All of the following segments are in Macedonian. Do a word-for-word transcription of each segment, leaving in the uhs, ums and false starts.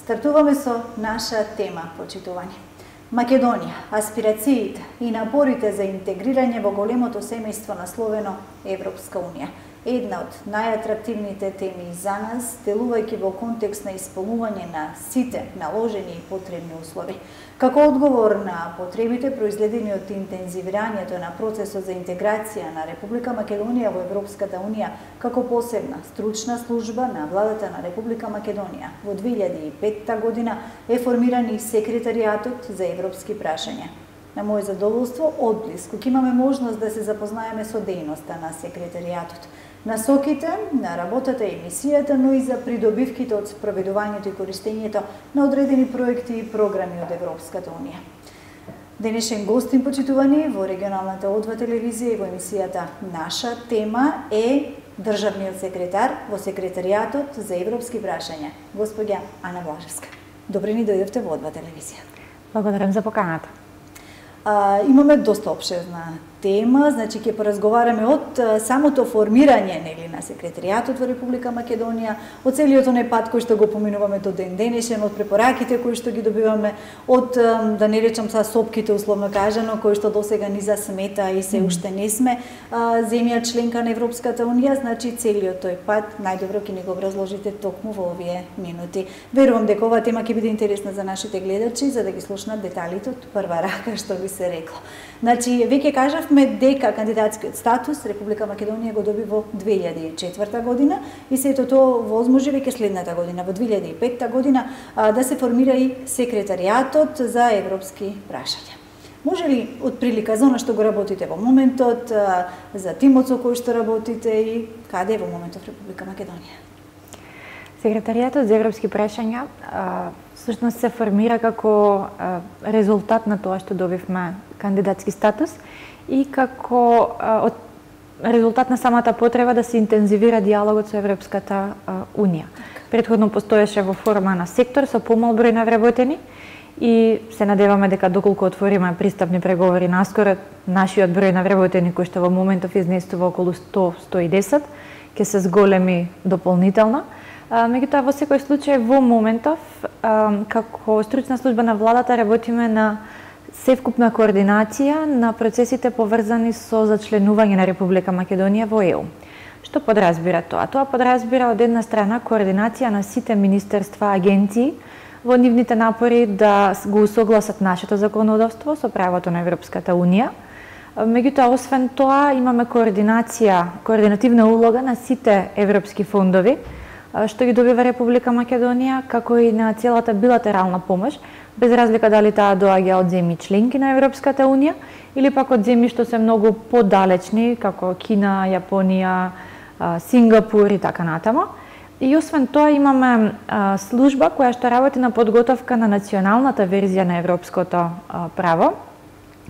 Стартуваме со наша тема, почитувани. Македонија, аспирациите и напорите за интегрирање во големото семејство насловено Европска Унија. Една од најатрактивните теми за нас, делувајќи во контекст на исполнување на сите наложени и потребни услови. Како одговор на потребите произледени од интензивирањето на процесот за интеграција на Република Македонија во Европската Унија, како посебна стручна служба на владата на Република Македонија, во две илјади и петта година е формиран и секретаријатот за европски прашања. На моје задоволство, одблиску ќе имаме можност да се запознаеме со дејноста на секретаријатот, насоките на работата и мисијата, но и за придобивките од спроведувањето и користењето на одредени проекти и програми од Европската Унија. Денешен гостин, почитувани, во регионалната О два телевизија и во емисијата Наша тема е државниот секретар во секретаријатот за европски прашања, господја Ана Блажевска. Добре ни дојдовте во О два телевизија. Благодарам за поканата. А, имаме доста опширна тема, значи ќе поразговараме од самото формирање нели на секретаријатот во Република Македонија, од целиот оној пат кој што го поминуваме до ден денешен, од препораките кои што ги добиваме, од да не речам са сопките условно кажано, кои што досега ни засмета и се уште не сме а, земја членка на Европската Унија, значи целиот тој пат најдобро ќе ни го образложите токму во овие минути. Верувам дека оваа тема ќе биде интересна за нашите гледачи, за да ги слушнат деталите од прва рака, што би се рекло. Значи, веќе кажавме дека кандидатскиот статус Република Македонија го доби во две илјади и четврта година и сето тоа возможи веќе следната година, во две илјади и петта година, да се формира и секретаријатот за европски прашања. Може ли од прилика за она што го работите во моментот, за тимот со кој што работите и каде е во моментот Република Македонија? Секретаријатот за европски прашања всушност се формира како резултат на тоа што добивме кандидатски статус и како од резултат на самата потреба да се интензивира диалогот со Европската Унија. Претходно постоеше во форма на сектор со помал број на вработени и се надеваме дека доколку отвориме пристапни преговори наскоро, нашиот број на вработени кој што во моментов изнесува околу сто до сто и десет ќе се зголеми дополнително. Меѓутоа, во секој случај, во моментов, како стручна служба на владата, работиме на севкупна координација на процесите поврзани со зачленување на Република Македонија во Е У. Што подразбира тоа? Тоа подразбира од една страна координација на сите министерства, агенции, во нивните напори да го усогласат нашето законодавство со правото на Европската Унија. Меѓутоа, освен тоа, имаме координација, координативна улога на сите европски фондови, што ги добива Република Македонија, како и на целата билатерална помош, без разлика дали таа доаѓа од земји членки на Европската Унија или пак од земји што се многу подалечни, како Кина, Јапонија, Сингапур и така натаму. И освен тоа имаме служба која што работи на подготовка на националната верзија на европското право.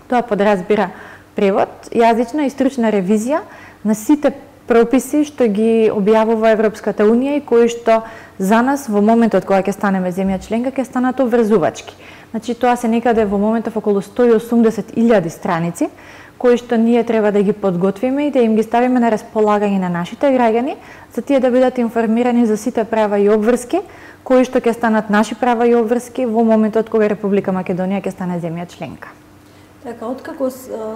Тоа подразбира превод, јазична и стручна ревизија на сите прописи што ги објавува Европската Унија и кои што за нас во моментот кога ќе станеме земја членка ќе станат обврзувачки. Значи тоа се некаде во моментов околу сто и осумдесет илјади страници кои што ние треба да ги подготвиме и да им ги ставиме на располагање на нашите граѓани, за тие да бидат информирани за сите права и обврски кои што ќе станат наши права и обврски во моментот кога Република Македонија ќе стане земја членка. Така, откако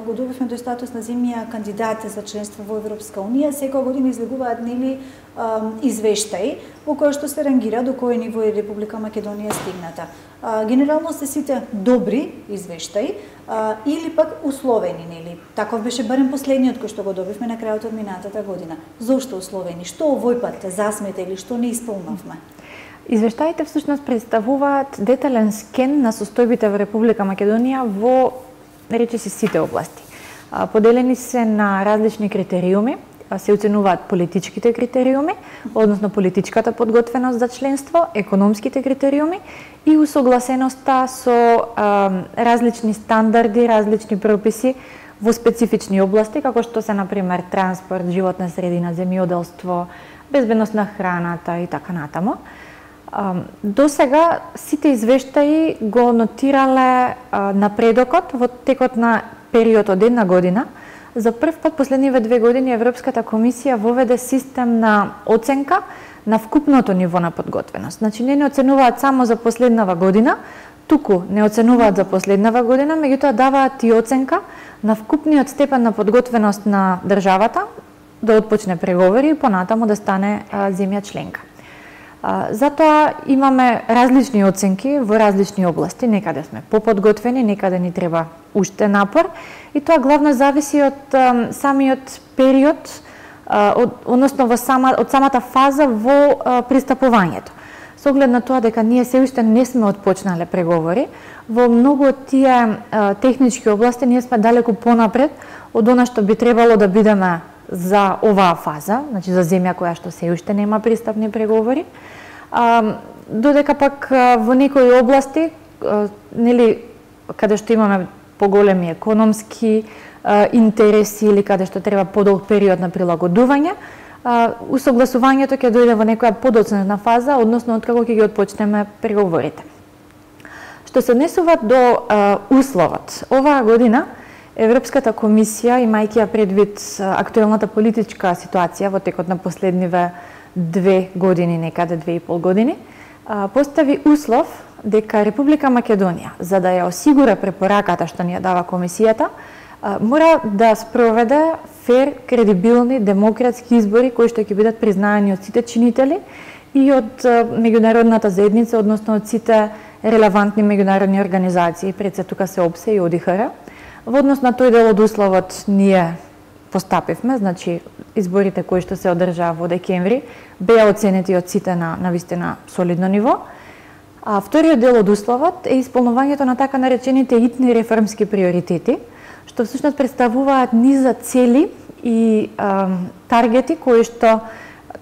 го добивме тој статус на земја кандидат за членство во Европска Унија, секоја година излегуваат нели извештаи во која што се рангира до кој ниво е Република Македонија стигната. Генерално се сите добри извештаи или пак условени, нели? Таков беше барем последниот кој што го добивме на крајот од минатата година. Зошто условени? Што овој пат засмета или што не исполнавме? Извештаите всушност представуваат детален скен на состојбите во Република Македонија во речиси сите области. Поделени се на различни критериуми, се оценуваат политичките критериуми, односно политичката подготвеност за членство, економските критериуми и усогласеноста со а, различни стандарди, различни прописи во специфични области, како што се, например, транспорт, животна средина, земјоделство, безбедност на храната и така натаму. До сега сите извештаи го нотирале напредокот во текот на период од една година. За прв пат последниве две години Европската комисија воведе систем на оценка на вкупното ниво на подготвеност. Значи не не оценуваат само за последнава година, туку не оценуваат за последнава година, меѓутоа даваат и оценка на вкупниот степен на подготвеност на државата да отпочне преговори и понатаму да стане а, земја членка. А, затоа имаме различни оценки во различни области, некаде сме поподготвени, некаде ни треба уште напор и тоа главно зависи од а, самиот период, а, од, односно во сама, од самата фаза во а, пристапувањето. Со оглед на тоа дека ние се уште не сме отпочнале преговори, во многу од тие а, технички области ние сме далеку понапред од она што би требало да бидеме за оваа фаза, значи за земја која што се уште нема пристапни преговори. А, додека пак а, во некои области, а, нели, каде што имаме поголеми економски а, интереси или каде што треба подолг период на прилагодување, а, усогласувањето ќе дојде во некоја подоцнена фаза, односно откако ќе ги отпочнеме преговорите. Што се однесува до а, условот, оваа година Европската комисија, имајќи ја предвид актуелната политичка ситуација во текот на последниве две години, некаде две и пол години, постави услов дека Република Македонија, за да ја осигура препораката што ни ја дава комисијата, мора да спроведе фер, кредибилни, демократски избори кои што ќе бидат признаени од сите чинители и од меѓународната заедница, односно од сите релевантни меѓународни организации, пред се тука се ОПСЕ и О Д Х Р. Во однос на тој дел од условот ние постапивме, значи изборите кои што се одржаа во декември беа оценети од сите на на вистина солидно ниво. А вториот дел од условот е исполнувањето на така наречените итни реформски приоритети, што всушност представуваат низа цели и а, таргети кои што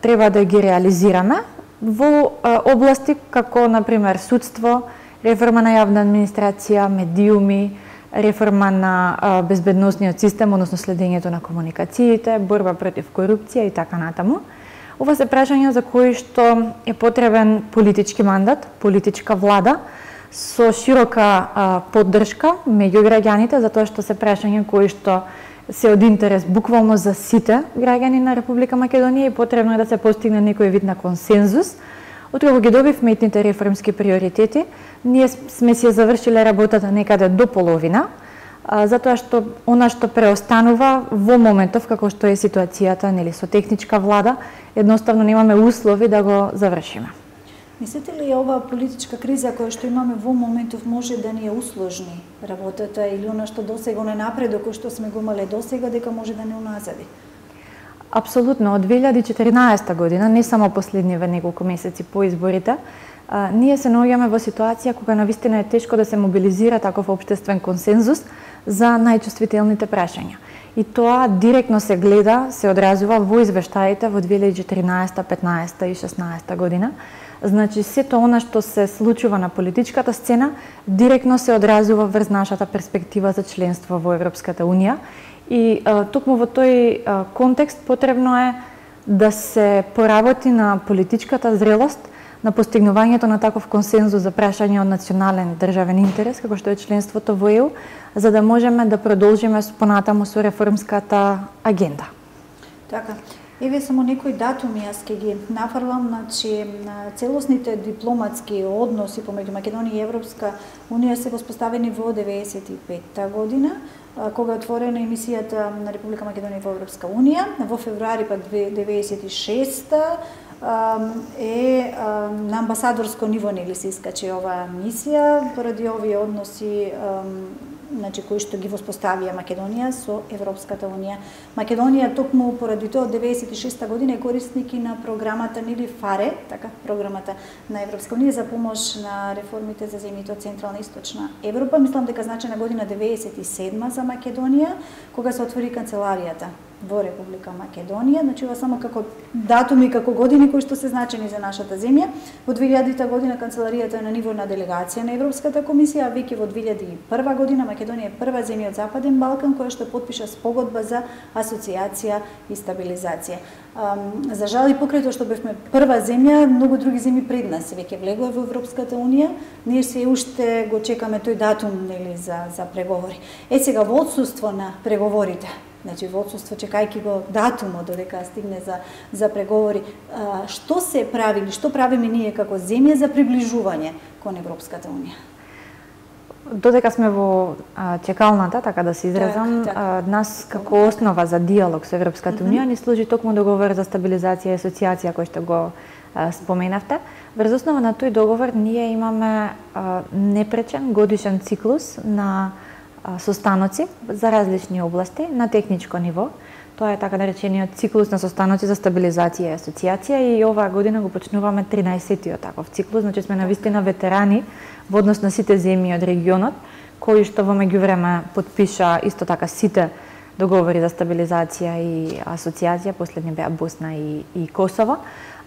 треба да ги реализираме во а, области како на пример судство, реформа на јавна администрација, медиуми, реформа на а, безбедносниот систем, односно следењето на комуникациите, борба против корупција и така натаму. Ова се прашања за кои што е потребен политички мандат, политичка влада со широка а, поддршка меѓу граѓаните, затоа што се прашања кои што се од интерес буквално за сите граѓани на Република Македонија и потребно е да се постигне некој вид на консензус. Откако ги добивме итните реформски приоритети, ние сме си завршиле работата некаде до половина, а, затоа што она што преостанува во моментов како што е ситуацијата, нели, со техничка влада, едноставно немаме услови да го завршиме. Мислите ли ова политичка криза која што имаме во моментов може да ни ја усложни работата или она што досега не напредок кој што сме го имале досега дека може да не уназади? Апсолутно, од две илјади и четиринаесета година, не само последниве неколку месеци по изборите, а, ние се наоѓаме во ситуација кога навистина е тешко да се мобилизира таков општествен консензус за најчувствителните прашања. И тоа директно се гледа, се одразува во извештаите во две илјади и четиринаесета, петнаесета и шеснаесета година. Значи, сето она што се случува на политичката сцена, директно се одразува врз нашата перспектива за членство во Европската Унија. И а, токму во тој а, контекст потребно е да се поработи на политичката зрелост, на постигнувањето на таков консензус за прашање од национален државен интерес, како што е членството во Е У, за да можеме да продолжиме понатаму со реформската агенда. Така. Еве само некои датуми јас ќе ги нафрлам, значи целосните дипломатски односи помеѓу Македонија и Европска Унија се воспоставени во деветдесет и петта година, кога е отворена емисијата на Република Македонија во Европска Унија. Во февруари пак деветдесет и шеста е на амбасадорско ниво нели се искачи оваа мисија поради овие односи значи кои што ги воспоставија Македонија со Европската Унија. Македонија токму поради тоа од деветдесет и шеста година е корисник и на програмата нели ФАРЕ, така програмата на Европска Унија за помош на реформите за земјите од Централна и Источна Европа. Мислам дека значена година деветдесет и седма за Македонија, кога се отвори канцеларијата во Република Македонија, значи ова само како датуми, како години кои што се значени за нашата земја. Во две илјадите година канцеларијата е на ниво на делегација на Европската комисија, а веќе во две илјади и прва година Македонија е прва земја од Западен Балкан која што потпиша спогодба за асоциација и стабилизација. За жал и покрај тоа што бевме прва земја, многу други земји пред нас веќе влегоа во Европската Унија. Ние се уште го чекаме тој датум нели за за преговори. Е сега во отсуство на преговорите Значи, во одсуство, чекајќи го датумот додека стигне за, за преговори, а, што се прави или што правиме ние како земја за приближување кон Европската унија? Додека сме во а, чекалната, така да се изразам, так, так. А, нас како основа за диалог со Европската унија ни служи токму договор за стабилизација и асоциација кој што го а, споменавте. Врз основа на тој договор ние имаме а, непречен годишен циклус на а, состаноци за различни области на техничко ниво. Тоа е така наречениот циклус на состаноци за стабилизација и асоциација и оваа година го почнуваме тринаесеттиот таков циклус, значи сме навистина ветерани во однос на сите земји од регионот, кои што во меѓувреме потпиша исто така сите договори за стабилизација и асоциација, последни беа Босна и, и Косово,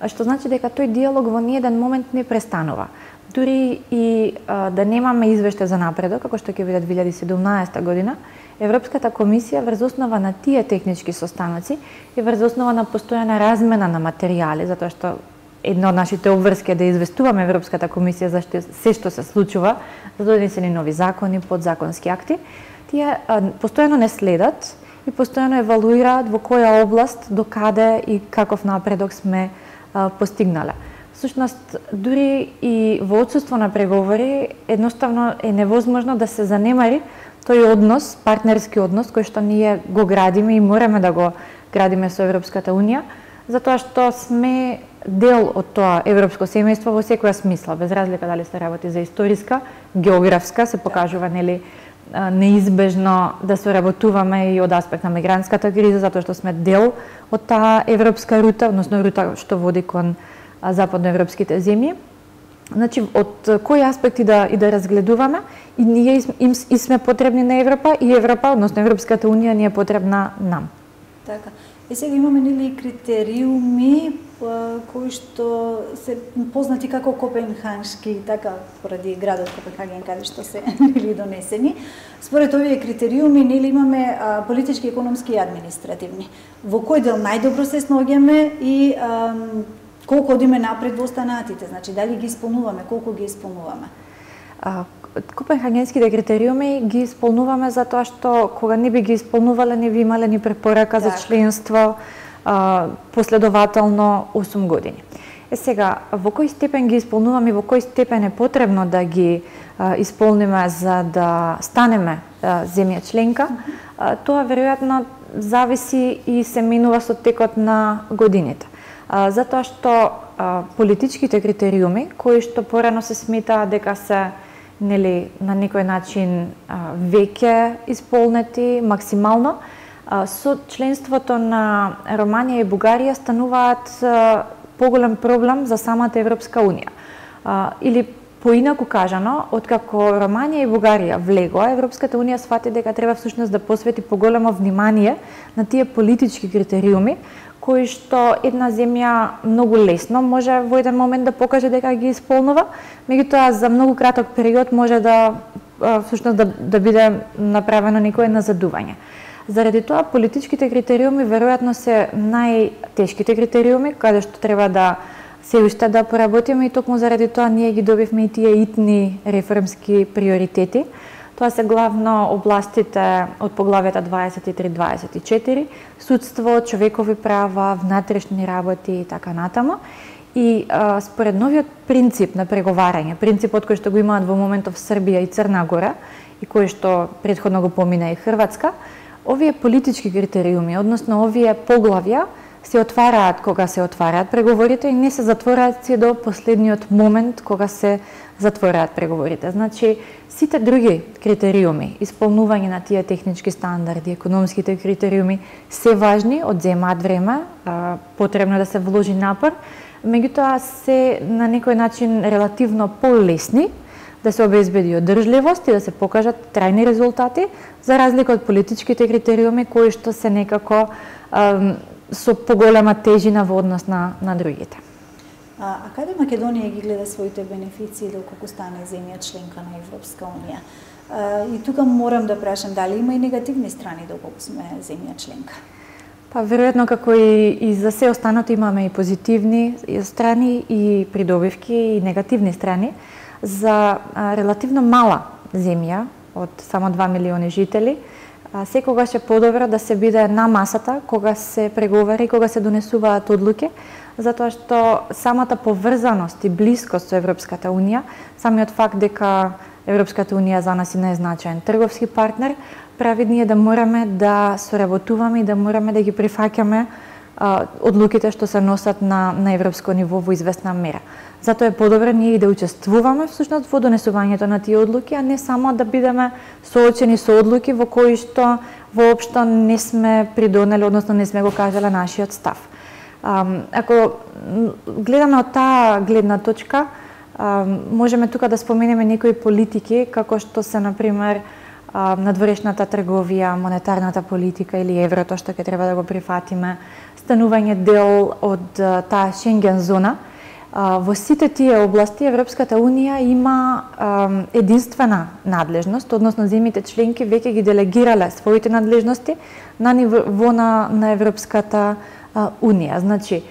што значи дека тој диалог во ниеден момент не престанува. Дури и а, да немаме извештај за напредок, како што ќе биде две илјади и седумнаесета година, Европската комисија врз основа на тие технички состаноци и врз основа на постојана размена на материјали, затоа што една од нашите обврски е да известуваме Европската комисија за што, се што се случува, за донесени нови закони, подзаконски акти, тие а, постојано не следат и постојано евалуираат во која област, до каде и каков напредок сме а, постигнале. Всушност, дури и во отсуство на преговори, едноставно е невозможно да се занемари тој однос, партнерски однос, кој што ние го градиме и мораме да го градиме со Европската унија, затоа што сме дел од тоа европско семејство во секоја смисла, без разлика дали се работи за историска, географска, се покажува нели неизбежно да соработуваме и од аспект на мигрантската криза, затоа што сме дел од таа европска рута, односно рута што води кон западноевропските земји. Значи, од кои аспекти да и да разгледуваме, и ние им, и сме потребни на Европа, и Европа, односно Европската унија, ни е потребна нам. Така. И сега имаме нели критериуми кои што се познати како копенхагенски, така поради градот Копенхаген каде што се нели донесени. Според овие критериуми нели имаме а, политички, економски и административни. Во кој дел најдобро се сноѓаме и а, колку одиме напред во останатите, значи дали ги исполнуваме, колку ги исполнуваме? А, Копенхагенските критериуми ги исполнуваме затоа што кога не би ги исполнувале, не би имале ни препорака так. за членство а, последователно осум години. Е сега, во кој степен ги исполнуваме и во кој степен е потребно да ги а, исполниме за да станеме а, земја членка, а, тоа веројатно зависи и се менува со текот на годините. А, затоа што а, политичките критериуми, кои што порано се сметаа дека се нели на некој начин а, веќе исполнети максимално, а, со членството на Романија и Бугарија стануваат а, поголем проблем за самата Европска унија. А, или поинаку кажано, откако Романија и Бугарија влегоа, Европската унија сфати дека треба всушност да посвети поголемо внимание на тие политички критериуми кои што една земја многу лесно може во еден момент да покаже дека ги исполнува, меѓутоа за многу краток период може да всушност да, да биде направено некое назадување. Заради тоа политичките критериуми веројатно се најтешките критериуми каде што треба да се уште да поработиме и токму заради тоа ние ги добивме и тие итни реформски приоритети. Тоа се главно областите од поглавјата дваесет и три дваесет и четири, судство, човекови права, внатрешни работи и така натаму. И а, според новиот принцип на преговарање, принципот кој што го имаат во моментов Србија и Црна Гора и кој што претходно го помина и Хрватска, овие политички критериуми, односно овие поглавја, се отвараат кога се отвараат преговорите и не се затвораат се до последниот момент кога се затвораат преговорите. Значи, сите други критериуми, исполнување на тие технички стандарди, економските критериуми, се важни, одземаат време, а, потребно да се вложи напор, меѓутоа се на некој начин релативно полесни да се обезбеди одржливост и да се покажат трајни резултати, за разлика од политичките критериуми кои што се некако а, со поголема тежина во однос на, на другите. А, а каде Македонија ги гледа своите бенефиции доколку стане земја членка на Европска унија? А, и тука морам да прашам дали има и негативни страни доколку сме земја членка? Па веројатно како и, и за се останато имаме и позитивни страни и придобивки и негативни страни. За а, релативно мала земја од само два милиони жители, секогаш е подобро да се биде на масата кога се преговари, кога се донесуваат одлуки, затоа што самата поврзаност и блискост со Европската унија, самиот факт дека Европската унија за нас е најзначаен трговски партнер, прави ние да мораме да соработуваме и да мораме да ги прифаќаме одлуките што се носат на, на европско ниво во известна мера. Затоа е подобро ние и да учествуваме всушност во донесувањето на тие одлуки, а не само да бидеме соочени со одлуки во кои што воопшто не сме придонели, односно не сме го кажале нашиот став. Ако гледаме од таа гледна точка, можеме тука да споменеме некои политики, како што се, например, надворешната трговија, монетарната политика или еврото, што ќе треба да го прифатиме, станување дел од таа Шенген зона. Во сите тие области Европската унија има единствена надлежност, односно земјите членки веќе ги делегирале своите надлежности на ниво на, на Европската унија. Значи,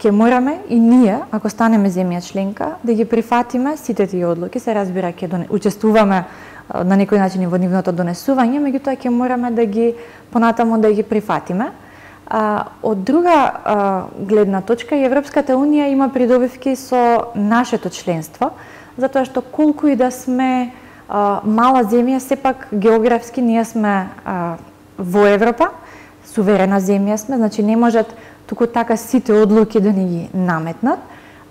ќе мораме и ние, ако станеме земја членка, да ги прифатиме сите тие одлуки, се разбира ќе доне... учествуваме на некој начин и во нивното донесување, меѓутоа ќе мораме да ги понатаму да ги прифатиме. А, од друга а, гледна точка, Европската унија има придобивки со нашето членство, затоа што колку и да сме а, мала земја, сепак географски ние сме а, во Европа, суверена земја сме, значи не можат туку така сите одлуки да ни ги наметнат.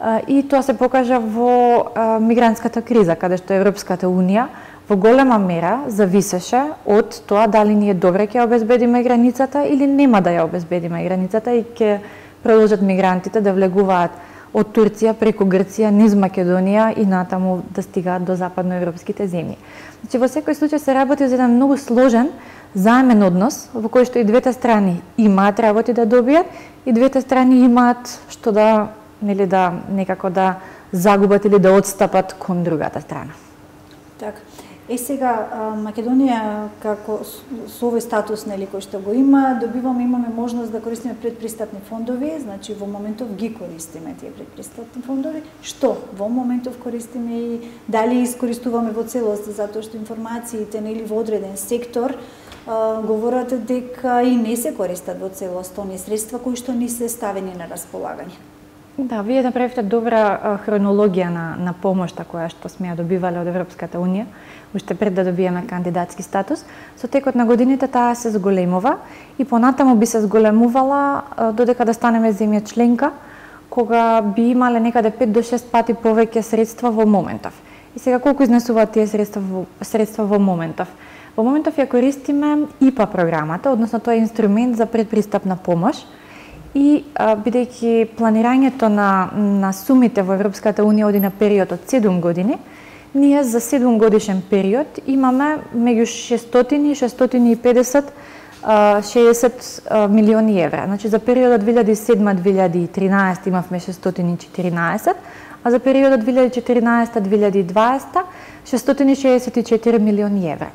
А, и тоа се покажа во а, мигрантската криза, каде што Европската унија во голема мера зависеше од тоа дали ние добре ќе обезбедиме границата или нема да ја обезбедиме границата и ќе продолжат мигрантите да влегуваат од Турција преку Грција низ Македонија и натаму да стигаат до западноевропските земји. Значи во секој случај се работи за еден многу сложен заемен однос во кој што и двете страни имаат работи да добијат и двете страни имаат што да, нели, да некако да загубат или да отстапат кон другата страна. Така. Е сега Македонија како со овој статус, нели, кој што го има, добиваме имаме можност да користиме предпристапни фондови, значи во моментов ги користиме тие предпристапни фондови. Што во моментов користиме и дали искористуваме во целост, затоа што информациите, нели, во одреден сектор а, говорат дека и не се користат во целост оние средства кои што ни се ставени на располагање. Да, вие направивте добра а, хронологија на, на помошта која што сме ја добивале од Европската унија, уште пред да добиеме кандидатски статус. Со текот на годините таа се зголемува и понатаму би се зголемувала а, додека да станеме земја членка, кога би имале некаде пет до шест пати повеќе средства во моментов. И сега колку изнесуваат тие средства во, средства во моментов? Во моментов ја користиме И П А програмата, односно тоа е инструмент за предпристапна помош. И бидејќи планирањето на, на сумите во Европската унија оди на период од седум години, ние за седум годишен период имаме меѓу шестстотини и шестстотини и педесет шеесет милиони евра. Значи за периодот две илјади и седма до две илјади и тринаесета имавме шестстотини и четиринаесет, а за периодот две илјади и четиринаесета до две илјади и дваесета шестстотини шеесет и четири милиони евра.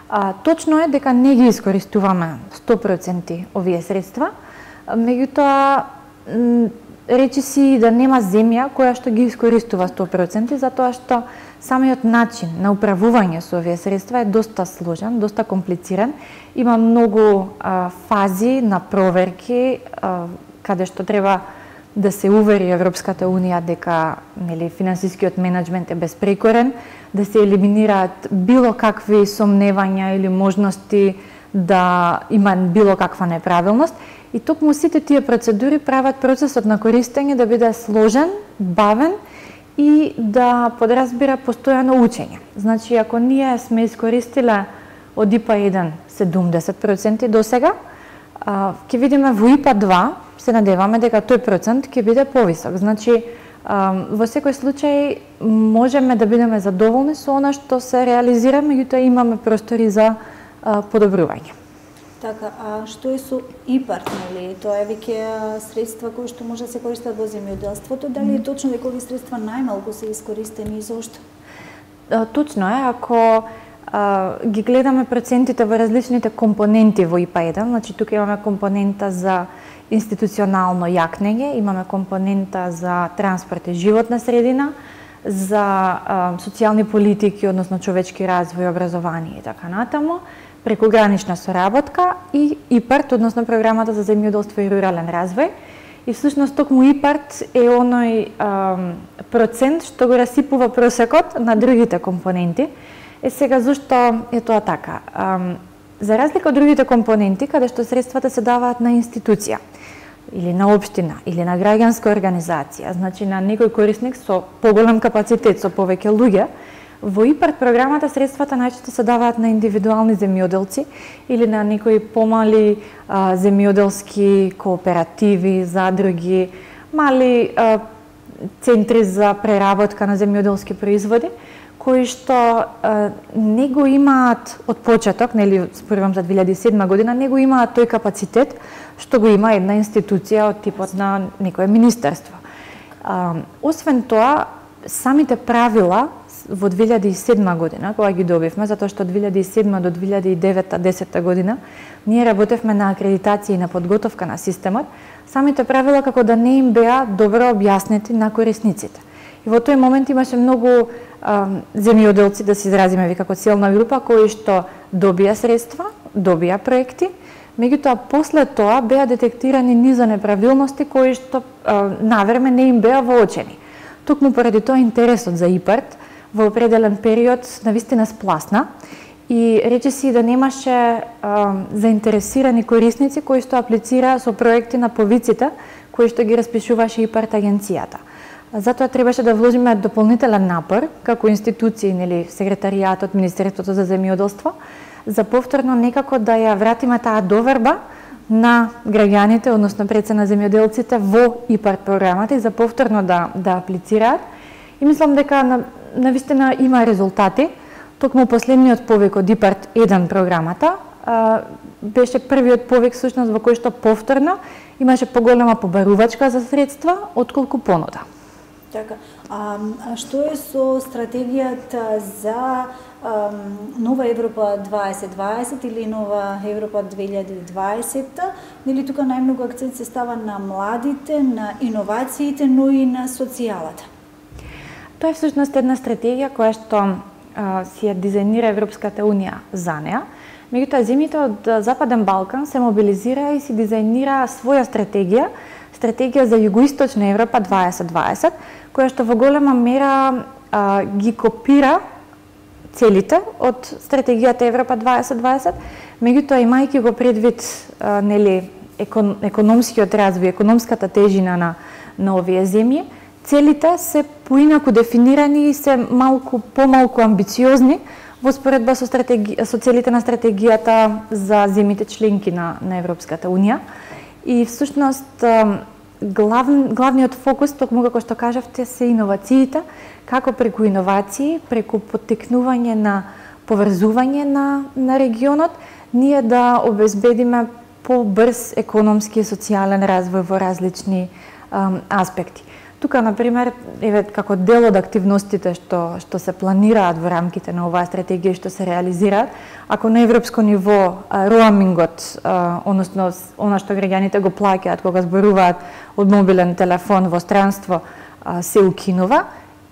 А, точно е дека не ги искористуваме сто проценти овие средства, меѓутоа речи си да нема земја која што ги искористува сто проценти, затоа што самиот начин на управување со овие средства е доста сложен, доста комплициран. Има многу а, фази на проверки, а, каде што треба да се увери Европската унија дека, нели, финансискиот менеджмент е безпрекорен, да се елиминираат било какви сомневања или можности да има било каква неправилност. И токму сите тие процедури прават процесот на користење да биде сложен, бавен и да подразбира постојано учење. Значи, ако ние сме искористиле од И П А еден седумдесет проценти до сега, ќе видиме во И П А два, се надеваме дека тој процент ќе биде повисок. Значи, во секој случај можеме да бидеме задоволни со она што се реализира, меѓутоа имаме простори за подобрување. Така, а што е со И П А Р, нели? Тоа е веќе средства кои што може да се користат во земјоделството. Дали е точно дека овие средства најмалку се искористени и зошто? Точно е, ако а, ги гледаме процентите во различните компоненти во И П А еден, значи тука имаме компонента за институционално јакнење, имаме компонента за транспорт и животна средина, за а, социјални политики, односно човечки развој, образование и така натаму, прекогранична соработка и ИПАРТ, односно програмата за земјоделство и рурален развој. И всушност токму ИПАРТ е оној а, процент што го расипува просекот на другите компоненти. Е сега зашто е тоа така? А, за разлика од другите компоненти, каде што средствата се даваат на институција, или на општина, или на граѓанска организација, значи на некој корисник со поголем капацитет, со повеќе луѓе, во ИПАРТ програмата средствата најчесто се даваат на индивидуални земјоделци или на некои помали а, земјоделски кооперативи, задруги, мали а, центри за преработка на земјоделски производи, кои што а, не го имаат од почеток, нели спорувам за две илјади и седма година, не го имаат тој капацитет што го има една институција од типот на некое министерство. А, освен тоа, самите правила во две илјади и седма година, кога ги добивме, затоа што од две илјади и седма до две илјади и девета до десета година, ние работевме на акредитација и на подготовка на системот, самите правила како да не им беа добро објаснети на корисниците. И во тој момент имаше многу а, земјоделци, да се изразиме ви како целна група, кои што добија средства, добија проекти, меѓутоа после тоа беа детектирани низа неправилности кои што а, навреме не им беа воочени. Токму поради тоа интересот за ИПАРТ во определен период навистина спласна и речиси да немаше а, заинтересирани корисници кои што аплицираа со проекти на повиците кои што ги распишуваше ИПАРТ агенцијата. Затоа требаше да вложиме дополнителен напор како институции, нели секретаријатот, Министерството за земјоделство, за повторно некако да ја вратиме таа доверба на граѓаните, односно пред се на земјоделците во ИПАРТ програмата и за повторно да да аплицираат. И мислам дека на навистина има резултати. Токму последниот повик од ИПАРТ еден програмата а, беше првиот повик всушност во кој што повторно имаше поголема побарувачка за средства отколку понуда. Така, а, а што е со стратегијата за а, Нова Европа дваесет дваесет или Нова Европа две илјади и дваесета? Нели тука најмногу акцент се става на младите, на иновациите, но и на социјалата? Тоа е всушност една стратегија која што а, си ја дизајнира Европската Унија за неа. Меѓутоа, земјите од Западен Балкан се мобилизира и си дизајнира своја стратегија, стратегија за Југоисточна Европа дваесет дваесет, која што во голема мера а, ги копира целите од стратегијата Европа дваесет дваесет, меѓутоа имајќи го предвид а, нели екон, економскиот развој, економската тежина на на овие земји, целите се поинаку дефинирани и се малку помалку амбициозни во споредба со стратеги... со целите на стратегијата за земјите членки на на Европската Унија. И всушност глав, главниот фокус, токму како што кажавте, се иновациите, како преку иновации, преку поттикнување на поврзување на на регионот, ние да обезбедиме побрз економски и социјален развој во различни ам, аспекти. Тука, например, еве како дел од активностите што што се планираат во рамките на оваа стратегија што се реализираат, ако на европско ниво роамингот, односно она што граѓаните го плаќаат кога зборуваат од мобилен телефон во странство, се укинува,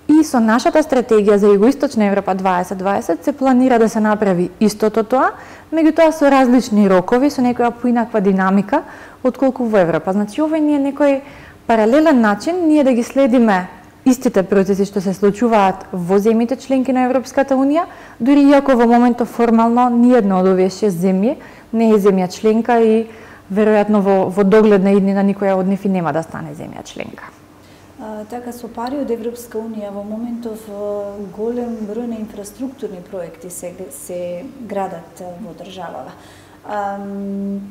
и со нашата стратегија за Југоисточна Европа дваесет дваесет се планира да се направи истото тоа, меѓутоа со различни рокови, со некоја поинаква динамика отколку во Европа. Значи, овој не е некој паралелен начин ние да ги следиме истите процеси што се случуваат во земјите членки на Европската Унија, дури иако во моментов формално ниедна од овие шест земји не е земја членка и веројатно во, во догледна иднина никоја од нив и нема да стане земја членка. А, така, со пари од Европска Унија во моментов голем број на инфраструктурни проекти се, се градат во државава. А,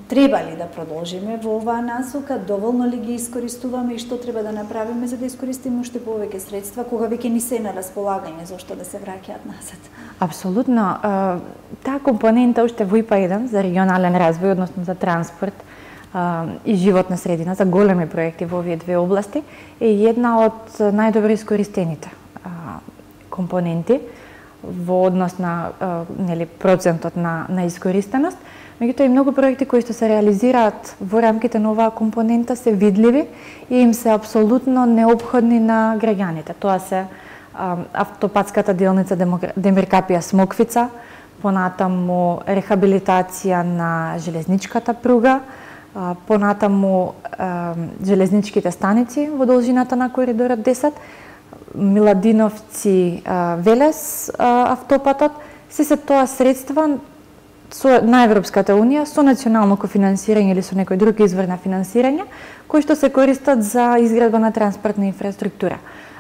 треба ли да продолжиме во оваа насока? Доволно ли ги искористуваме и што треба да направиме за да искористиме уште повеќе средства кога веќе ни се на располагање за што да се враќаат назад? Апсолутно. Таа компонента уште во ИПА еден за регионален развој, односно за транспорт и животна средина, за големи проекти во овие две области, е една од најдобро искористените компоненти во однос на нели процентот на на искористеност. Меѓутоа и многу проекти кои што се реализираат во рамките на оваа компонента се видливи и им се апсолутно неопходни на граѓаните. Тоа се а, автопатската делница Демиркапија Смоквица, понатаму рехабилитација на железничката пруга, понатаму железничките станици во должината на коридорот десет, Миладиновци Велес автопатот, се се тоа средства со на Европската унија со национално кофинансирање или со некој друг извор на финансирање кои што се користат за изградба на транспортна инфраструктура.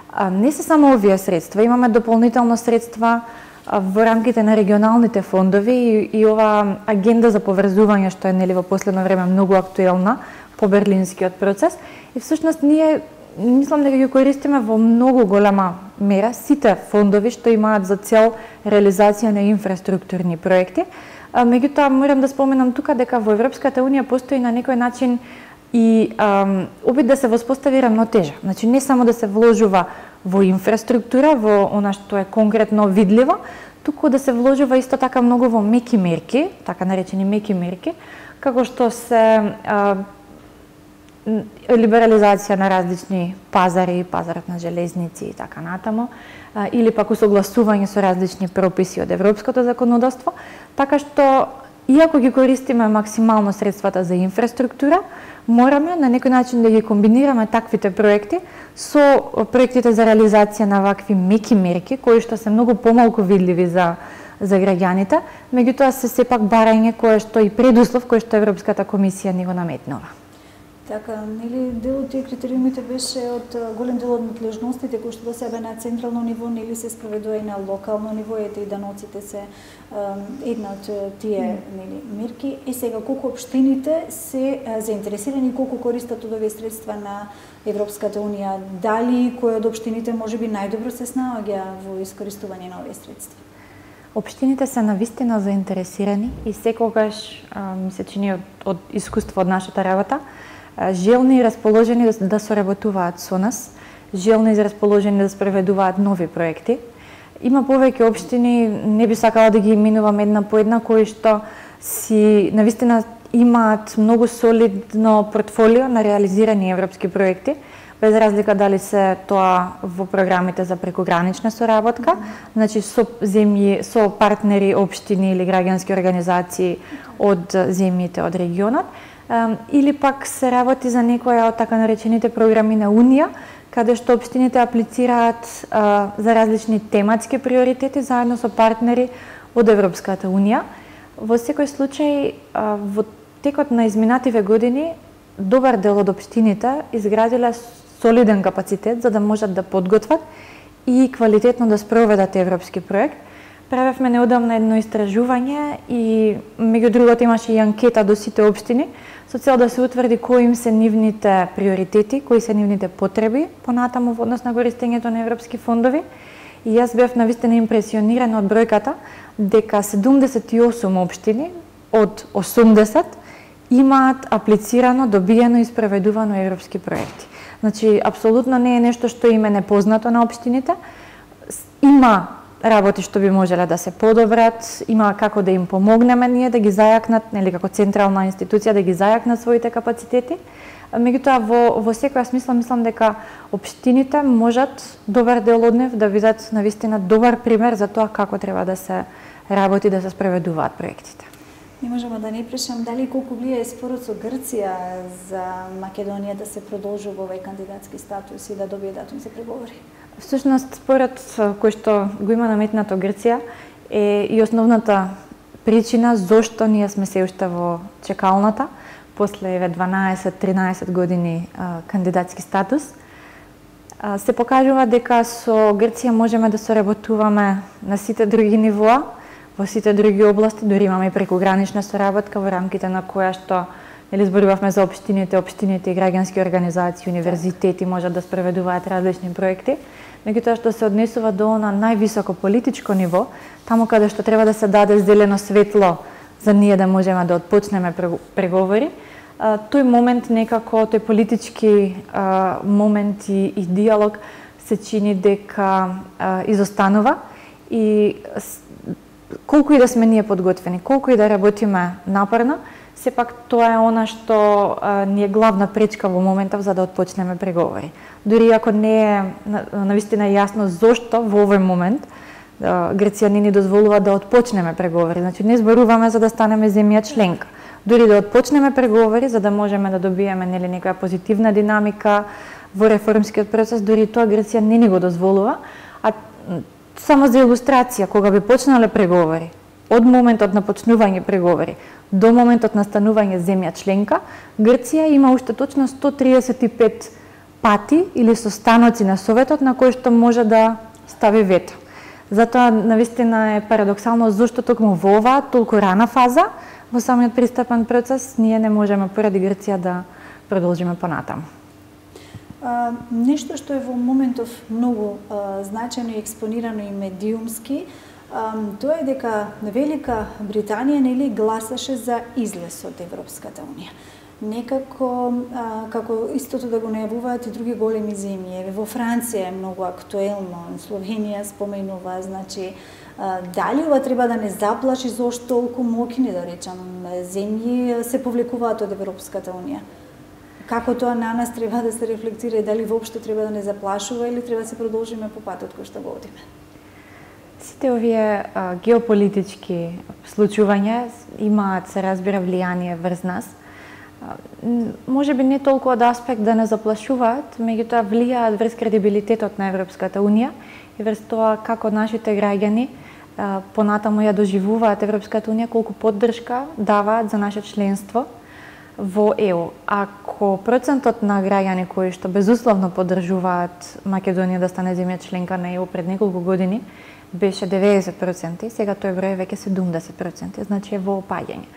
А не се само овие средства, имаме дополнително средства во рамките на регионалните фондови и, и ова агенда за поврзување што е нели во последно време многу актуелна по берлинскиот процес и всушност ние мислам дека ги користиме во многу голема мера сите фондови што имаат за цел реализација на инфраструктурни проекти. А, меѓутоа морам да споменам тука дека во Европската унија постои на некој начин и ам, обид да се воспостави рамнотежа. Значи не само да се вложува во инфраструктура, во она што е конкретно видливо, туку да се вложува исто така многу во меки мерки, така наречени меки мерки, како што се а, либерализација на различни пазари, пазарот на железници и така натаму, а, или пак усогласување со различни прописи од европското законодавство, така што иако ги користиме максимално средствата за инфраструктура, мораме на некој начин да ги комбинираме таквите проекти со проектите за реализација на вакви меки мерки, кои што се многу помалку видливи за за граѓаните, меѓутоа се сепак барање кое што и предуслов кој што Европската комисија ни го наметнува. Така, нели дел од тие критериумите беше од голем дел од надлежностите кои што до себе на централно ниво нели се спроведува и на локално ниво, ете и даноците се една од тие нели мерки. И сега колку општините се заинтересирани, колку користат од овие средства на Европската унија, дали кој од општините можеби најдобро се снаоѓа во искористување на овие средства? Општините се навистина заинтересирани и секогаш ми се чини од, од искуство од нашата работа, желни и расположени да, да соработуваат со нас, желни и расположени да спроведуваат нови проекти. Има повеќе општини, не би сакала да ги именувам една по една, кои што си навистина имаат многу солидно портфолио на реализирани европски проекти, без разлика дали се тоа во програмите за прекогранична соработка, mm-hmm. значи со земји, со партнери, општини или граѓански организации од земјите од регионот, или пак се работи за некоја од така наречените програми на Унија, каде што општините аплицираат а, за различни тематски приоритети заедно со партнери од Европската Унија. Во секој случај, а, во текот на изминативе години, добар дел од општините изградиле солиден капацитет за да можат да подготват и квалитетно да спроведат европски проект. Правевме неодамна едно истражување и меѓу другото имаше и анкета до сите општини со цел да се утврди кои им се нивните приоритети, кои се нивните потреби понатаму во однос на користењето на европски фондови. И јас бев навистина импресионирана од бројката дека седумдесет и осум општини од осумдесет имаат аплицирано, добиено и спроведувано европски проекти. Значи, апсолутно не е нешто што им е непознато на општините. Има работи што би можеле да се подобрат, има како да им помогнеме ние да ги зајакнат, нели како централна институција да ги зајакнат своите капацитети. Меѓутоа во во секоја смисла мислам дека општините можат добар дел од нив да видат навистина добар пример за тоа како треба да се работи, да се спроведуваат проектите. Не можеме да не прашам дали колку влијае спорот со Грција за Македонија да се продолжува овој кандидатски статус и да добие датум за преговори. Всушност, според кој што го има наметнато Грција е и основната причина зошто ние сме се уште во чекалната после дванаесет-тринаесет години а, кандидатски статус. А, се покажува дека со Грција можеме да соработуваме на сите други нивоа, во сите други области, дури имаме и прекогранична соработка во рамките на која што нели зборувавме за општините, општините и граѓански организации, универзитети можат да спроведуваат различни проекти. Меѓутоа што се однесува до она највисоко политичко ниво, таму каде што треба да се даде зелено светло за ние да можеме да отпочнеме преговори, тој момент некако, тој политички момент и, и диалог се чини дека изостанува и колку и да сме ние подготвени, колку и да работиме напорно, сепак тоа е она што а, ни е главна пречка во моментов за да отпочнеме преговори. Дури ако не е навистина јасно зошто во овој момент Грција не ни дозволува да отпочнеме преговори. Значи не зборуваме за да станеме земја членка. Дури да отпочнеме преговори за да можеме да добиеме нели некоја позитивна динамика во реформскиот процес, дури тоа Грција не ни го дозволува. А само за илустрација, кога би почнале преговори, од моментот на почнување преговори до моментот на станување земја членка, Грција има уште точно сто триесет и пет пати или состаноци на Советот на кои што може да стави вето. Затоа навистина е парадоксално зошто токму во оваа толку рана фаза во самиот пристапен процес ние не можеме поради Грција да продолжиме понатаму. А, нешто што е во моментов многу а, значајно и експонирано и медиумски, а, тоа е дека Велика Британија нели гласаше за излез од Европската унија. Некако, а, како истото да го најавуваат и други големи земји. Во Франција е многу актуелно, Словенија споменува, значи, а, дали ова треба да не заплаши зошто толку моќни, да речам, земји се повлекуваат од Европската унија? Како тоа на нас треба да се рефлектира и дали воопшто треба да не заплашува или треба да се продолжиме по патот кој што го одиме? Сите овие а, геополитички случувања имаат, се разбира, влијание врз нас. Може би не толку од аспект да не заплашуваат, меѓутоа влијаат врз кредибилитетот на Европската унија и врз тоа како нашите граѓани а, понатаму ја доживуваат Европската унија, колку поддршка даваат за наше членство во Е У. Ако процентот на граѓани кои што безусловно поддржуваат Македонија да стане земја членка на Е У пред неколку години беше деветдесет проценти, сега тој број е веќе седумдесет проценти, значи е во опаѓање.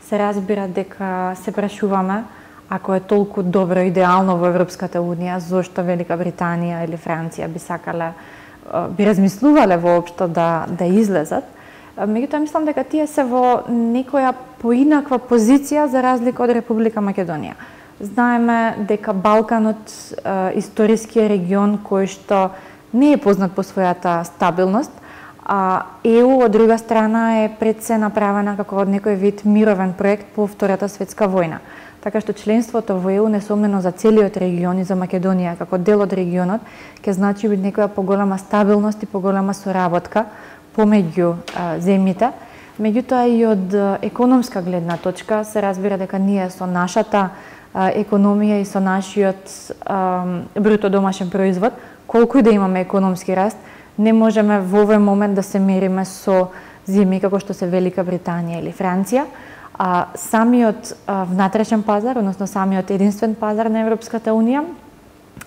Се разбира дека се прашуваме, ако е толку добро идеално во Европската унија, зошто Велика Британија или Франција би сакале, би размислувале воопшто да да излезат. Меѓутоа мислам дека тие се во некоја поинаква позиција за разлика од Република Македонија. Знаеме дека Балканот е историски регион кој што не е познат по својата стабилност, а Е У од друга страна е пред се направена како од некој вид мировен проект по Втората светска војна. Така што членството во Е У несомнено за целиот регион и за Македонија како дел од регионот ќе значи некоја поголема стабилност и поголема соработка помеѓу а, земјите. Меѓутоа и од економска гледна точка се разбира дека ние со нашата а, економија и со нашиот а, бруто домашен производ, колку и да имаме економски раст, не можеме во овој момент да се мериме со земји како што се Велика Британија или Франција. А самиот а, внатрешен пазар, односно самиот единствен пазар на Европската унија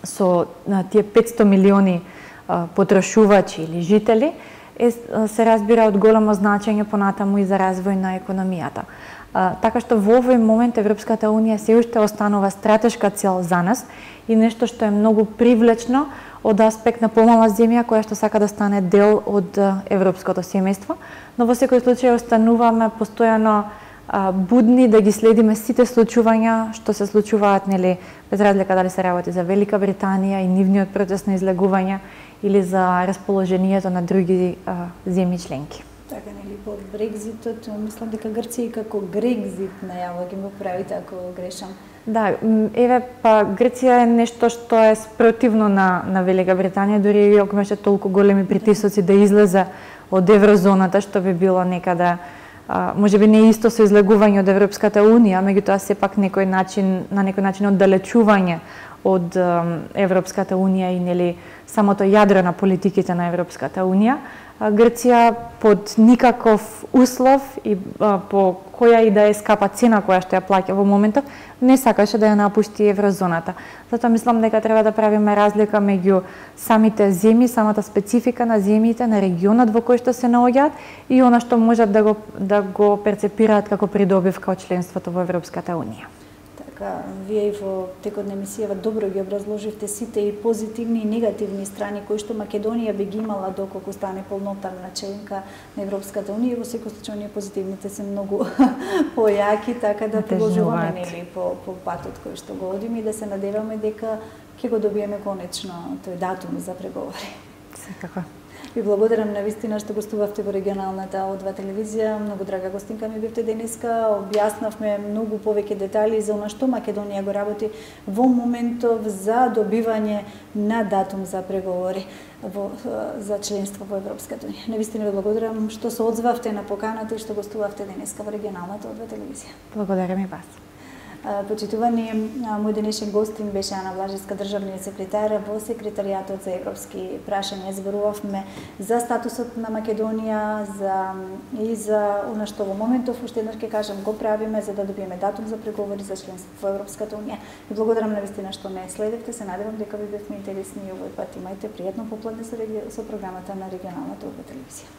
со а, тие петсто милиони а, потрошувачи или жители е, се разбира од големо значење понатаму и за развој на економијата. А, така што во овој момент Европската унија се уште останува стратешка цел за нас и нешто што е многу привлечно од аспект на помала земја која што сака да стане дел од европското семејство, но во секој случај остануваме постојано а, будни да ги следиме сите случувања што се случуваат, нели, без разлика дали се работи за Велика Британија и нивниот процес на излегување или за расположението на други а, земји членки. Така, нели, по Брекзитот, мислам дека Грција и како Грекзит најава ги му правите ако грешам. Да, еве, па Грција е нешто што е спротивно на, на Велика Британија, дури и ако имаше толку големи притисоци да излезе од еврозоната, што би било некада, а, може би не исто со излегување од Европската унија, меѓутоа сепак некој начин, на некој начин оддалечување од Европската унија и нели самото јадро на политиките на Европската унија. Грција под никаков услов и а, по која и да е скапа цена која што ја плаќа во моментот, не сакаше да ја напушти еврозоната. Затоа мислам дека треба да правиме разлика меѓу самите земји, самата специфика на земјите, на регионот во кој што се наоѓаат и она што можат да го да го перцепираат како придобивка од членството во Европската унија. Така, вие и во текот на емисијава добро ги образложивте сите и позитивни и негативни страни кои што Македонија би ги имала доколку стане полноправна членка на Европската унија. Во секој случај оние позитивните се многу појаки, така да продолжуваме нели по по патот кој што го одиме и да се надеваме дека ќе го добиеме конечно тој датум за преговори. Секако. Ви благодарам навистина што гостувавте во регионалната О два телевизија. Многу драга гостинка ми бевте денеска. Објаснавме многу повеќе детали за она што Македонија го работи во моментов за добивање на датум за преговори во, за членство во Европската унија. Навистина ви благодарам што се одзвавте на поканата и што гостувавте денеска во регионалната О два телевизија. Благодарам и вас. Почитувани, мој денешен гостин беше Ана Блажевска, државниот секретар во Секретаријатот за европски прашања. Зборувавме за статусот на Македонија, за и за она што во моментов, уште еднаш ќе кажам, го правиме за да добиеме датум за преговори за членство во Европската унија. И благодарам навистина што ме следевте, се надевам дека ви бевме интересни и овој пат имајте пријатно попладне со, реги... со програмата на регионалната О два телевизија.